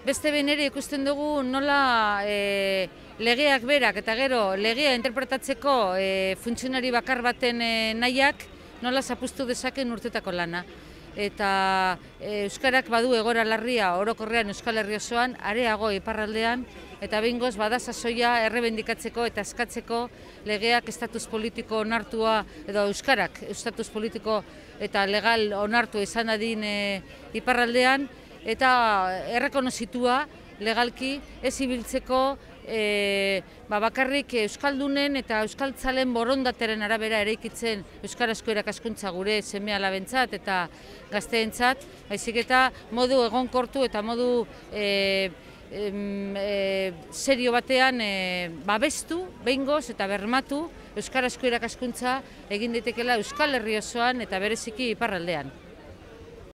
Beste behin ere ikusten dugu nola legeak berak eta gero legea interpretatzeko funtzionari bakar baten nahiak nola zapuztu dezaken urtetako lana. Eta euskarak badu egoera larria orokorrean Euskal Herri osoan, areago iparraldean, eta behingoz bada sasoia errebendikatzeko eta eskatzeko legeak estatus politiko onartua, edo euskarak estatus politiko eta legal onartu izan dadin iparraldean, eta errekonozitua legalki ez ibiltzeko bakarrik euskaldunen eta euskaltzalen borondateren arabera eraikitzen euskarazko irakaskuntza gure seme-alabentzat eta gazteentzat, baizik eta modu egonkortu eta modu serio batean babestu, behingoz eta bermatu euskarazko irakaskuntza egin daitekeela Euskal Herri osoan eta bereziki iparraldean.